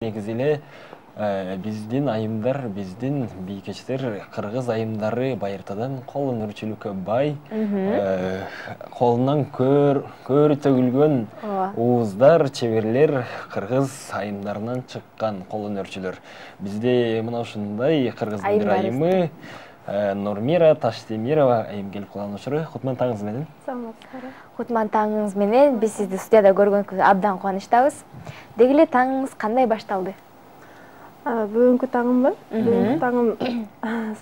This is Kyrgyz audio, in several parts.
Негизи эле биздин айымдар, биздин бийкечтер, кыргыз айымдары байыртадан кол өнөрчүлүккө бай, колунан көөрү төгүлгөн ууздар, чеберлер кыргыз айымдарынан чыккан кол өнөрчүлөр. Бизде мына ушундай кыргыздын бир айымы Нурмира Таштемирова айым келип калган учуру. Кутман таңыңыз менен. Саламатсыздарбы? Кутман таңыңыз менен. Биз сизди студияда көргөнгө абдан кубанычтабыз. Деги эле таңыңыз кандай башталды? Бүгүнкү таңымбы? Бүгүнкү таңым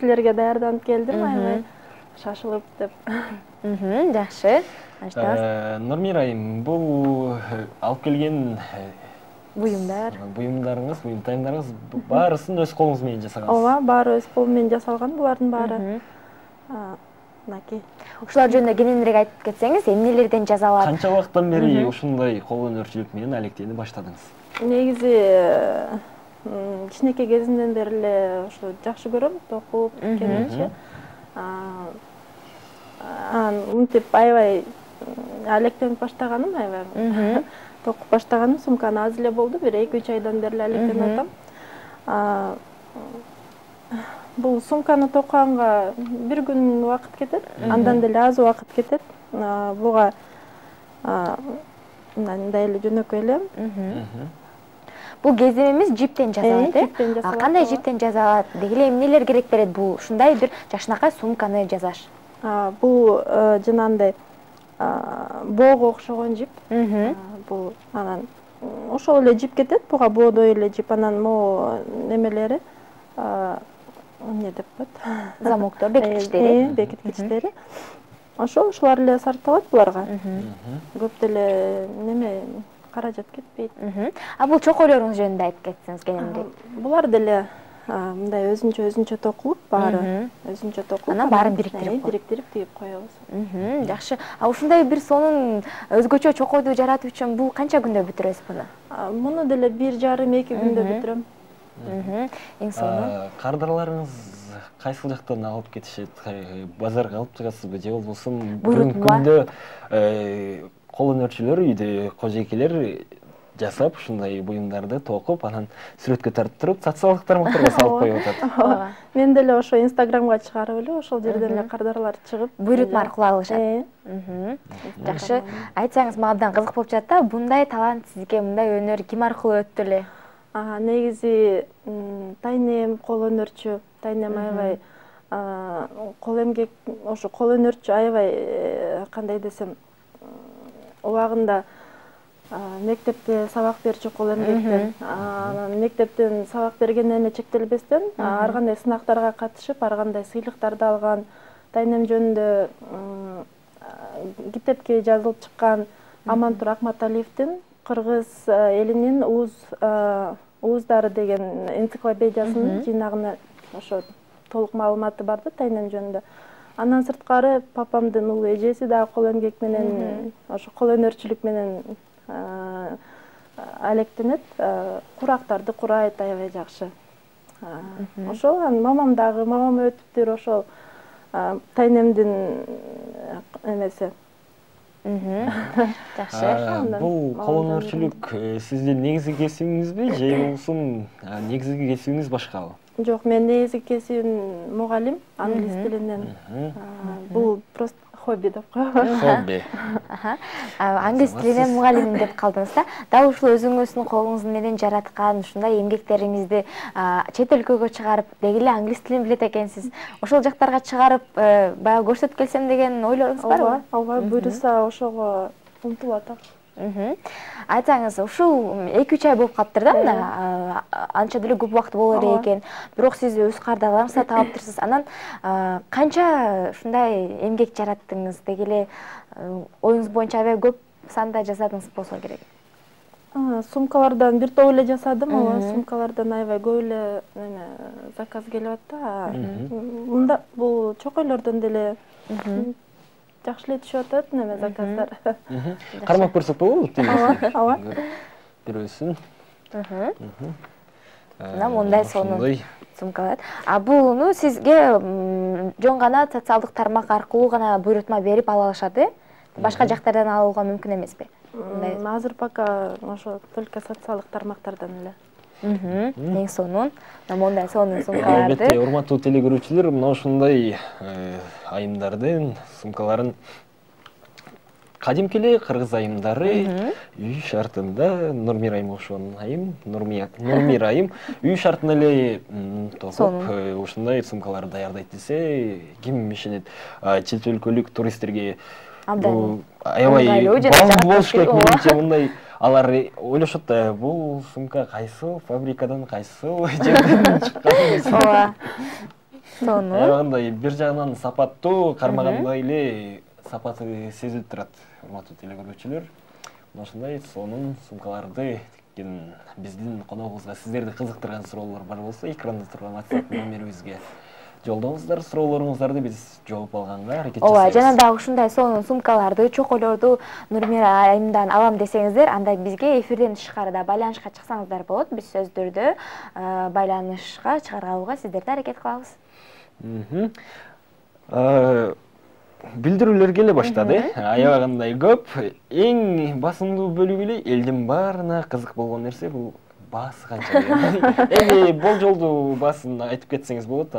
силерге даярданып келдим, аябай шашылып деп. Жакшы. Нурмира айым, бул алып келген буюмдарыңыз, буюмтайымдарыңыз баарысын өз колуңуз менен жасагансыз. Ооба, баары өз колум менен жасалган, булардын баары. Мынакей. Ушулар жөнүндө кененирээк айтып кетсеңиз, эмнелерден жасалат? Канча убакыттан бери ушундай кол өнөрчүлүк менен алектенip баштадыңыз? Негизи кичинекей кезимден бери эле ушу жакшы көрөм, токуп, тиккенди. Мынтип аябай алектенип баштаганым, аябай токуп баштаганым сумканы аз эле болду, бир 2-3 айдан бери алектенип атам. Бул сумканы токканга бир күн убакыт кетет, андан деле аз убакыт кетет. Буга мындай эле жөнөкөй эле. Бул кеземimiz жиптен жасалат, э? Кандай жиптен жасалат? Деги эле эмнелер керек берет бул ушундай бир жакшынакай сумканы жасаш? Бул жанагындай боого окшогон жип. Бул анан ошол эле жип кетет, буга боодой эле жип, анан могу немелери эмне деп коет? Замоктор, бекиткичтери. Бекиткичтери. Ошолор эле сарпталат буларга. Көп деле неме каражат кетпейт. Бул чокойлоруңуз жөнүндө айтып кетсеңиз кененирээк. Булар деле мындай өзүнчө токулуп, баары өзүнчө токулуп, анан баарын бириктирип тигип коебуз. Жакшы. Ушундай бир сонун өзгөчө чокойду жаратуу үчүн бул канча күндө бүтүрөсүз буну? Муну деле 1,5-2 күндө бүтүрөм. Эң сонун. Кардарларыңыз кайсыл жактан алып кетишет? Базарга алып чыгасызбы же болбосо бүгүнкү күндө кол өнөрчүлөр үйдө кожойкелер жасап ушундай буюмдарды токуп, анан сүрөткө тартып туруп, социалдык тармактарга салып коюп атат. Мен деле ошо Инстаграмга чыгарып эле ошол жерден эле кардарлар чыгып, буйрутма аркылуу алышат. Жакшы. Айтсаңыз, мага абдан кызык болуп жатат да, мындай талант сизге, мындай өнөр ким аркылуу өттү эле? Негизи тайнем кол өнөрчү, тайнем аябай кол эмгек, ошо кол өнөрчү аябай кандай десем, убагында мектепте сабак берчү кол эмгектен, анан мектептен сабак бергенден эле чектелбестен ар кандай сынактарга катышып, ар кандай сыйлыктарды алган, тайнем жөнүндө китепке жазылып чыккан Амантур Акматалиевдин кыргыз элинин ууздары деген энциклопедиясынын жыйнагына ошо толук маалыматы бар да тайнем жөнүндө. Андан сырткары папамдын улуу эжеси дагы кол эмгек менен, ошо кол өнөрчүлүк менен алектенет, курактарды курайт аябай жакшы. Ошол мамам дагы, мамам өтүптүр ошол тайнемдин эмеси. Жакшы. Бул кол өнөрчүлүк сиздин негизги кесибиңизби же болбосо негизги кесибиңиз башкабы? Жок, мен негизги кесибим мугалим, англис тилинен. Бул просто хобби деп коебуз. Хобби. Англис тилинен мугалимим деп калдыңыз да. Дал ушул өзүңүздүн колуңуз менен жараткан ушундай эмгектериңизди чет өлкөгө чыгарып, деги эле англис тилин билет экенсиз. Ошол жактарга чыгарып, баягы көрсөтүп келсем деген ойлоруңуз барбы? Ооба, буйруса ошого умтулуп атам. Айтсаңыз, ушул 2-3 ай болуп калыптыр да, мына анча деле көп убакыт болор экен. Бирок сиз өз кардарларыңызды сатып алыптырсыз. Анан канча ушундай эмгек жараттыңыз? Деги эле оюңуз боюнча аябай көп санда жасадыңыз болсо керек. Сумкалардан бир топ эле жасадым, ооба, сумкалардан аябай көп эле заказ келип атты. Мында бул чокойлордон деле жакшы эле түшүп атат неме заказдар. Кармап көрсөк болобу? Ооба. Бирөөсүн. Мына мындай сонун сумкалар. Буну сизге жөн гана социалдык тармак аркылуу гана буйрутма берип ала алышат, э? Башка жактардан алууга мүмкүн эмеспи? Азыр пока ошо только социалдык тармактардан эле. Эң сонун мондай сонун сумкаларды. Албетте, урматтуу телекөрүүчүлөр, мына ушундай айымдардын сумкаларын кадимки эле кыргыз айымдары үй шартында Нурмира айым ошон айым, Нурмира айым үй шартында эле токуп ушундай сумкаларды даярдайт десе ким ишенет? Чет өлкөлүк туристтерге аябай болуш керек. Менимче мындай алар ойлошот да, бул сумка кайсыл фабрикадан, кайсыл жерден чыккан. Ооба. Сонун. Аябай бир жагынан сапаттуу, кармагандай эле сапаты сезилип турат. Урматтуу телекөрүүчүлөр, ушундай сонун сумкаларды тиккен биздин коногубузга сиздерди кызыктырган суроолор бар болсо, экранда турган WhatsApp номерибизге жолдоңуздар, суроолоруңуздарды биз жооп алганга аракет жасайбыз. Ооба, жана дагы ушундай сонун сумкаларды, чокойлорду Нурмира айымдан алам десеңиздер, анда бизге эфирден тышкарыда байланышка чыксаңыздар болот. Биз сөздөрдү байланышка чыгарганга сиздерди аракет кылабыз. Билдирүүлөр келе баштады. Аябагандай көп. Эң басымдуу бөлүгү эле элдин баарына кызык болгон нерсе бул баасы канча деген. Эми болжолдуу баасын айтып кетсеңиз болот,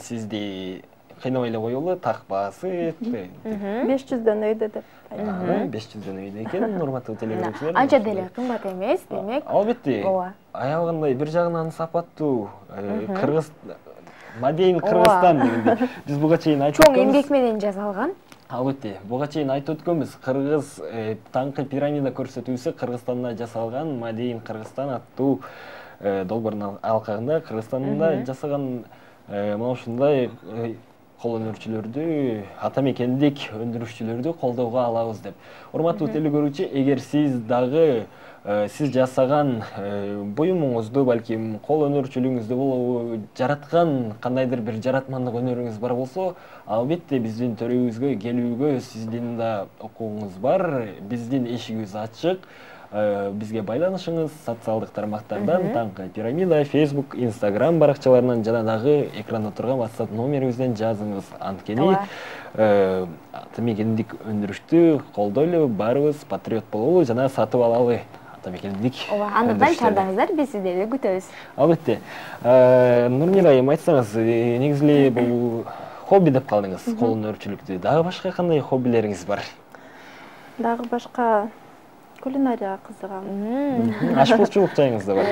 сизди кыйнабай эле коелу, так баасы 500дөн өйдө деп. 500дөн өйдө экен, урматтуу телекөрүүчүлөр. Анча деле кымбат эмес, демек. Албетте. Аябагандай бир жагынан сапаттуу кыргыз Мадейин Кыргызстан дегенде биз буга чейин айтып чоң эмгек менен жасалган. Албетте, буга чейин айтып өткөнбүз. Кыргыз таңкы пирамида көрсөтүүсү Кыргызстанда жасалган Мадейин Кыргызстан аттуу долбоордун алкагында Кыргызстанда жасаган мына ушундай кол өнөрчүлөрдү, ата мекендик өндүрүшчүлөрдү колдоого алабыз деп. Урматтуу телекөрүүчү, эгер сиз дагы сиз жасаган буюмуңузду, балким кол өнөрчүлүгүңүздү болобу, жараткан кандайдыр бир жаратмандык өнөрүңүз бар болсо, албетте биздин төрүбүзгө келүүгө сиздин да укугуңуз бар. Биздин эшигибиз ачык. Бизге байланышыңыз социалдык тармактардан, таңкы пирамида, Facebook, Instagram баракчаларынан жана дагы экранда турган WhatsApp номерибизден жазыңыз. Анткени ата мекендик өндүрүштү колдойлу, барыбыз патриот бололу жана сатып алалы. Ооба, андыктан чардаңыздар, биз сиздерди күтөбүз. Албетте. Нурмира айым, айтсаңыз, негизи эле бул хобби деп калдыңыз, кол өнөрчүлүктү. Дагы башка кандай хоббилериңиз бар? Дагы башка кулинарияга кызыгам. Ашпозчулук жайыңыз да бар.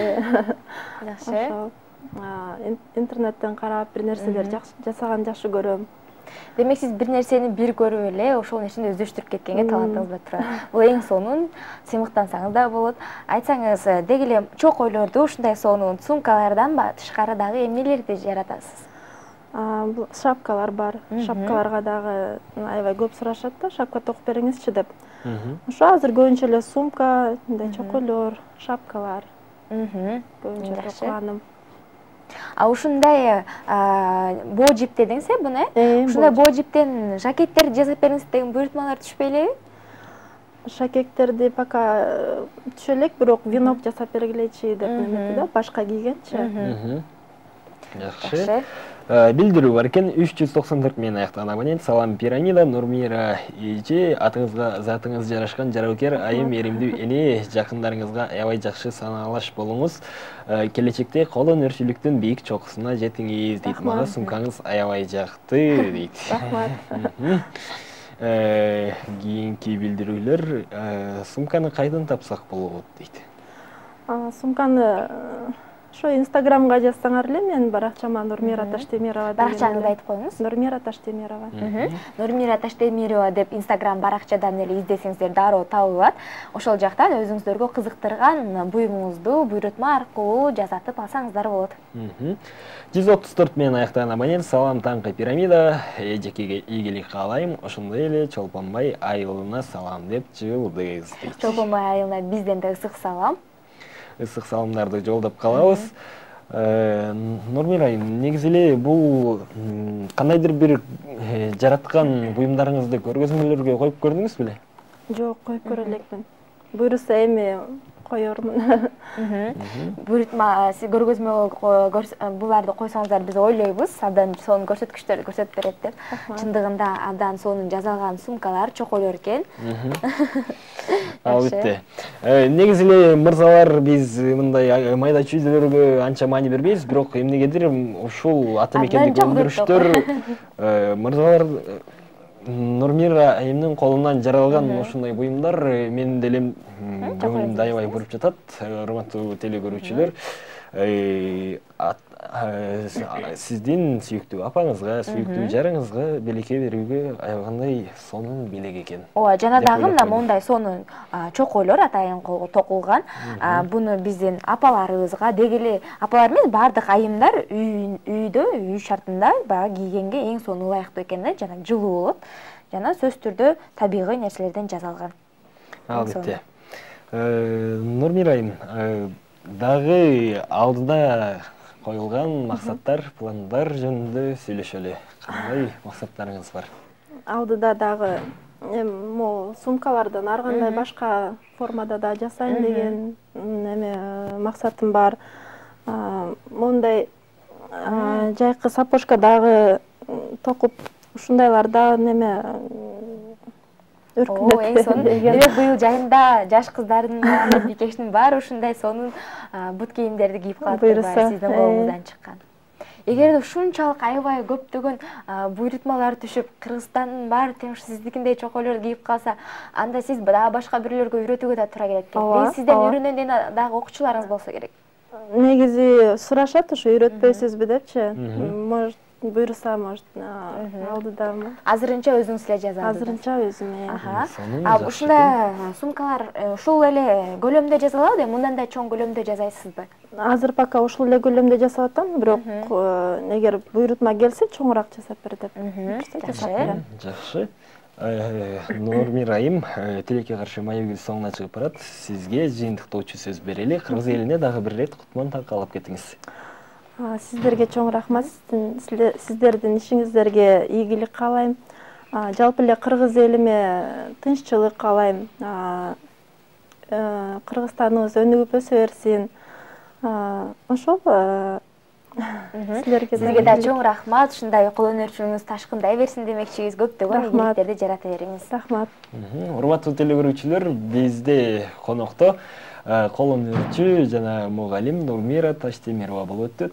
Жакшы. Интернеттен карап бир нерселер жасаган жакшы көрөм. Демек сиз бир нерсени бир көрүп эле ошол нерсени өздөштүрүп кеткенге талантыңыз бар турат. Бул эң сонун, сыймыктансаңыз да болот. Айтсаңыз, деги эле чокойлорду, ушундай сонун сумкалардан тышкары дагы эмнелерди жаратасыз? Бул шапкалар бар. Шапкаларга дагы аябай көп сурашат да, шапка токуп бериңизчи деп. Ошо азыр көбүнчө эле сумка, мындай чокойлор, шапкалар. Көбүнчө токуганым. Ушундай боо жип дедиңиз буну, ушундай боо жиптен жакеттерди жасап бериңиз деген буйрутмалар түшпөй элеби? Жакеттерди пока түшө элек, бирок венок жасап бергилечи деп неметти да, башка кийгенчи. Жакшы. Билдирүү бар экен, 394 менен аяктаган абонент. Салам пирамида, Нурмира эже, атыңызга затыңыз жарашкан жарабыкер айым, эримдүү эне, жакындарыңызга аябай жакшы санаалаш болуңуз. Келечекте кол өнөрчүлүктүн бийик чокусуна жетиңиз дейт. Мага сумкаңыз аябай жакты дейт. Рахмат. Кийинки билдирүүлөр, сумканы кайдан тапсак болот дейт. Сумканы ошо Инстаграмга жазсаңар эле, менин баракчама Нурмира Таштемирова деп. Баракчаңызды айтып коюңуз. Нурмира Таштемирова. Нурмира Таштемирова деп Инстаграм баракчадан эле издесеңиздер дароо табылат. Ошол жактан өзүңүздөргө кызыктырган буюмуңузду буйрутма аркылуу жасатып алсаңыздар болот. 134 менен аяктаган абонент. Салам таңкы пирамида, эжекеге ийгилик каалайм. Ошондой эле Чолпонбай айылына салам деп жылдыңыз дейт. Чолпонбай айылына бизден да ысык салам. Ысык саламдарды жолдоп калабыз. Нурмира айым, негизи эле бул кандайдыр бир жараткан буюмдарыңызды көргөзмөлөргө коюп көрдүңүз беле? Жок, коюп көрө элекмин. Буйруса эми коермун. Буйрутма сиз көргөзмө буларды койсоңуздар биз ойлойбуз, абдан сонун көрсөткүчтөрдү көрсөтүп берет деп. Чындыгында абдан сонун жасалган сумкалар, чокойлор экен. Албетте. Негизи эле мырзалар биз мындай майда чүйдөлөргө анча маани бербейбиз, бирок эмнегедир ушул ата мекендик өндүрүштөр мырзалар Нурмира айымдын колунан жаралган ушундай буюмдар менин деле көңүлүмдү аябай буруп жатат. Урматтуу телекөрүүчүлөр, сиздин сүйүктүү апаңызга, сүйүктүү жарыңызга белекке берүүгө аябагандай сонун белек экен. Ооба, жана дагы мына моундай сонун чокойлор атайын колго токулган. Буну биздин апаларыбызга, деги эле апалар эмес, бардык айымдар үйдө, үй шартында баягы кийгенге эң сонун ылайыктуу экен да, жана жылуу болот. Жана сөзсүз түрдө табигый нерселерден жасалган. Албетте. Нурмира айым, дагы алдыда коюлган максаттар, пландар жөнүндө сөйлөшөлү. Кандай максаттарыңыз бар? Алдыда дагы могу сумкалардан ар кандай башка формада да жасайын деген максатым бар. Мондай жайкы сапожка дагы токуп ушундайларда эң сонун. Демек быйыл жайында жаш кыздардын, бикештин баары ушундай сонун бут кийимдерди кийип калат, сиздин колуңуздан чыккан. Эгерде ушунчалык аябай көптөгөн буйрутмалар түшүп, Кыргызстандын баары тең сиздикиндей чокойлорду кийип калса, анда сиз дагы башка бирлөргө үйрөтүүгө да туура келет экен. Сизден үйрөнөн деген дагы окуучуларыңыз болсо керек. Негизи сурашат, ушу үйрөтпөйсүзбү депчи. Может, буйруса, может, алдыдамы. Азырынча өзүңүз эле жазасыз. Азырынча өзүм. Ушундай сумкалар ушул эле көлөмдө жасалабы, мындан да чоң көлөмдө жасайсызбы? Азыр пока ушул эле көлөмдө жасап атам, бирок эгер буйрутма келсе, чоңураак жасап бер деп. Жакшы. Нурмира айым, тилекке каршы маегибиз соңуна чыгып барат. Сизге жыйынтыктоочу сөз берели. Кыргыз элине дагы бир рет кутман такалап кетиңиз. Сиздерге чоң рахмат. Сиздердин ишиңиздерге ийгилик каалайм. Жалпы эле кыргыз элиме тынччылык каалайм. Кыргызстаныбыз өнүгүп өсө берсин. Ошол сизге да чоң рахмат. Ушундай кол өнөрчүлүгүңүз ташкындай берсин демекчибиз. Көптөгөн ийгиликтерди жарата бериңиз. Рахмат. Урматтуу телекөрүүчүлөр, бизде конокто кол өнөрчү жана мугалим Нурмира Таштемирова болуп өттү.